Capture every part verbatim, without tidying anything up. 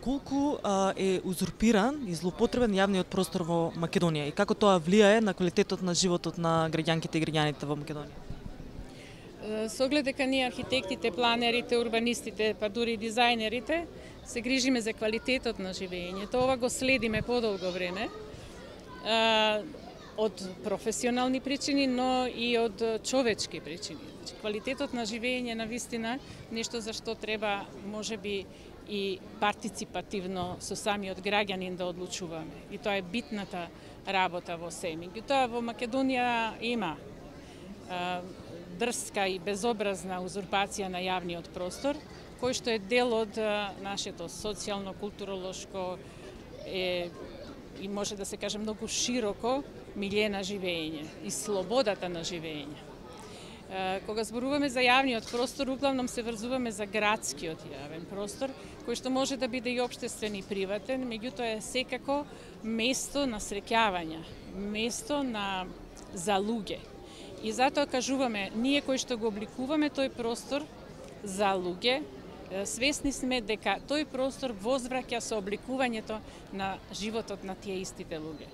колку а, е узурпиран и злоупотребен јавниот простор во Македонија и како тоа влијае на квалитетот на животот на граѓанките и граѓаните во Македонија? Со оглед дека ние архитектите, планерите, урбанистите, па дури и дизајнерите се грижиме за квалитетот на живеењето. Ова го следиме подолго време од професионални причини, но и од човечки причини. Квалитетот на живење на вистина нешто за што треба можеби и партиципативно со самиот граѓанин да одлучуваме. И тоа е битната работа во се. Меѓутоа во Македонија има дрска и безобразна узурпација на јавниот простор, кој што е дел од нашето социјално, културолошко е, и може да се каже многу широко милје на живење и слободата на живење. Кога зборуваме за јавниот простор, углавном се врзуваме за градскиот јавен простор, кој што може да биде и општествен и приватен, меѓутоа е секако место на среќавање, место на за луѓе. И затоа кажуваме, ние кои што го обликуваме тој простор за луѓе, свесни сме дека тој простор возвраќа со обликувањето на животот на тие истите луѓе.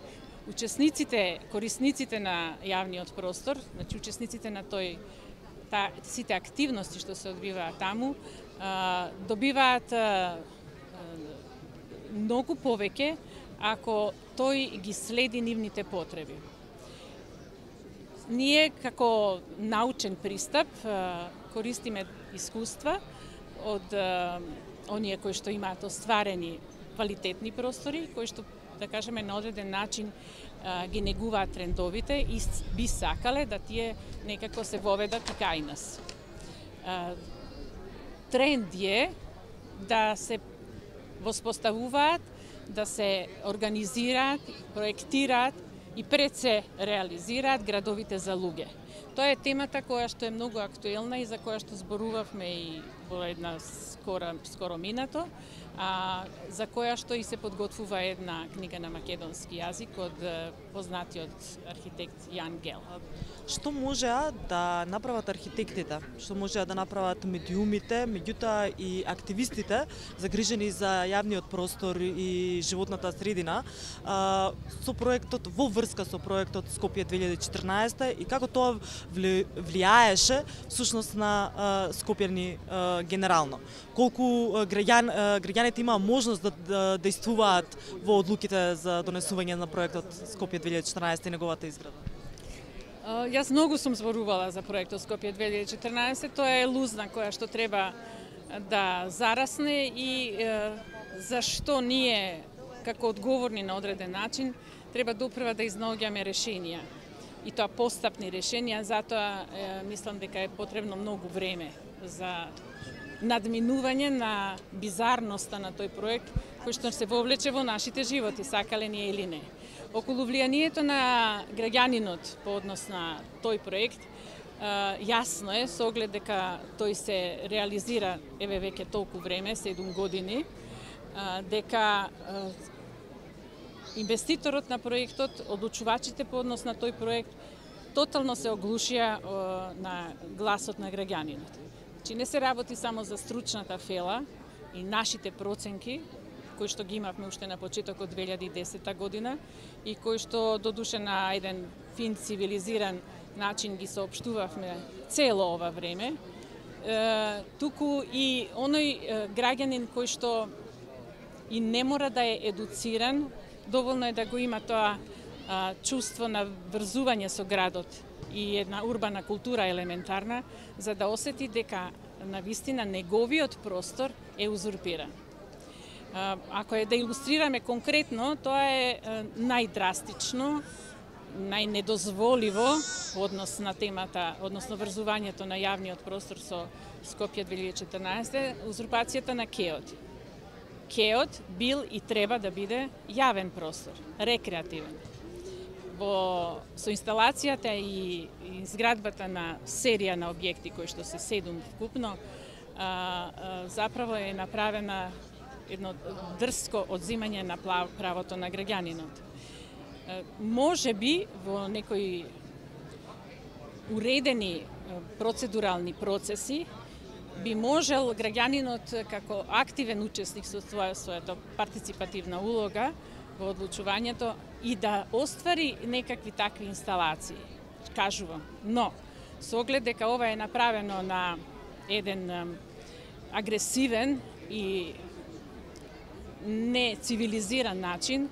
Учесниците, корисниците на јавниот простор, значи учесниците на тој та, сите активности што се одвиваат таму, а, добиваат а, многу повеќе ако тој ги следи нивните потреби. Ние како научен пристап користиме искуства од оние кои што имаат остварени квалитетни простори, кои што, да кажеме, на одреден начин ги негуваат трендовите и би сакале да тие некако се воведат и кај нас. Тренд е да се воспоставуваат, да се организираат, проектираат и пред се реализираат градовите за луѓе. Тоа е темата која што е многу актуелна и за која што зборувавме и во една скоро, скоро минато, а, за која што и се подготвува една книга на македонски јазик од познатиот архитект Јан Гел. Што можеа да направат архитектите, што можеа да направат медиумите, меѓутоа и активистите загрижени за јавниот простор и животната средина а, со проектот, во врска со проектот Скопје две илјади и четрнаесета и како тоа влијаеше всушност на а, скопјани а, генерално. Колку граѓан, граѓаните имаа можност да, да действуваат во одлуките за донесување на проектот Скопје две илјади и четрнаесета и неговата изграда? Јас многу сум зборувала за проектот Скопје две илјади и четрнаесета, тоа е лузна која што треба да зарасне и е, зашто ние како одговорни на одреден начин треба допрва да изнаоѓаме решенија. И тоа постапни решенија, затоа е, мислам дека е потребно многу време за надминување на бизарноста на тој проект кој што се вовлече во нашите животи, сакале ние или не. Околу влијанието на граѓанинот по однос на тој проект, јасно е со оглед дека тој се реализира еве веќе толку време, седум години, дека инвеститорот на проектот, одлучувачите по однос на тој проект, тотално се оглушија на гласот на граѓанинот. Значи не се работи само за стручната фела и нашите проценки, кои што ги имавме уште на почетокот две илјади и десета година и кои што додуше на еден фин цивилизиран начин ги соопштувавме цело ова време, е, туку и оној граѓанин кој што и не мора да е едуциран, доволно е да го има тоа а, чувство на врзување со градот и една урбана култура елементарна, за да осети дека на вистина неговиот простор е узурпиран. Ако е да илустрираме конкретно, тоа е најдрастично, најнедозволиво во однос на темата, односно врзувањето на јавниот простор со Скопје две илјади и четрнаесета, узурпацијата на Кеот. Кеот бил и треба да биде јавен простор, рекреативен. Во со инсталацијата и изградбата на серија на објекти кои што се седум вкупно, а, а, заправо е направена едно дрско одзимање на правото на граѓанинот. Може би во некои уредени процедурални процеси би можел граѓанинот како активен учесник со своја својата партиципативна улога во одлучувањето и да оствари некакви такви инсталации, кажувам. Но, со оглед дека ова е направено на еден агресивен и не цивилизиран начин,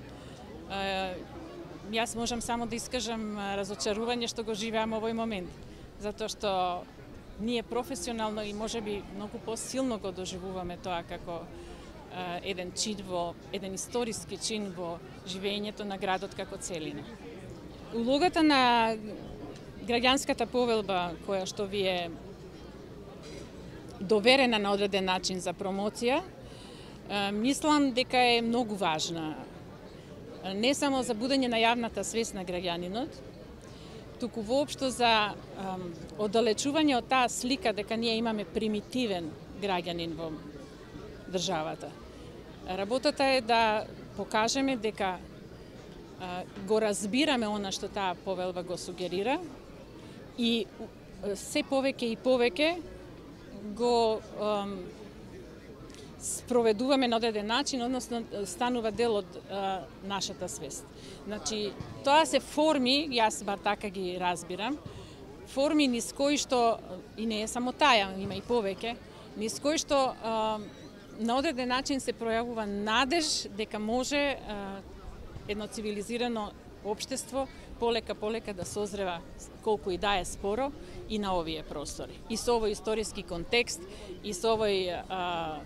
јас можам само да искажам разочарување што го живеам овој момент, затоа што ние професионално и можеби многу посилно го доживуваме тоа како еден чин во, еден историски чин во живењето на градот како целина. Улогата на граѓанската повелба, која што ви е доверена на одреден начин за промоција, мислам дека е многу важна. Не само за будење на јавната свест на граѓанинот, туку воопшто за ам, оддалечување од таа слика дека ние имаме примитивен граѓанин во државата. Работата е да покажеме дека а, го разбираме она што таа повелба го сугерира и се повеќе и повеќе го ам, спроведуваме на одреден начин, односно станува дел од а, нашата свест. Значи, тоа се форми, јас бар така ги разбирам, форми низ кои што, и не е само таја, има и повеќе, низ кои што а, на одреден начин се пројавува надеж дека може а, едно цивилизирано општество полека полека да созрева, колку и да е споро, и на овие простори. И со овој историски контекст, и со овој а,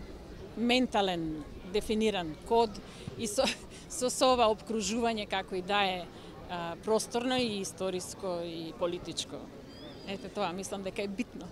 ментален дефиниран код, и со, со, со ова обкружување како и да е а, просторно и историско и политичко. Ете тоа, мислам дека е битно.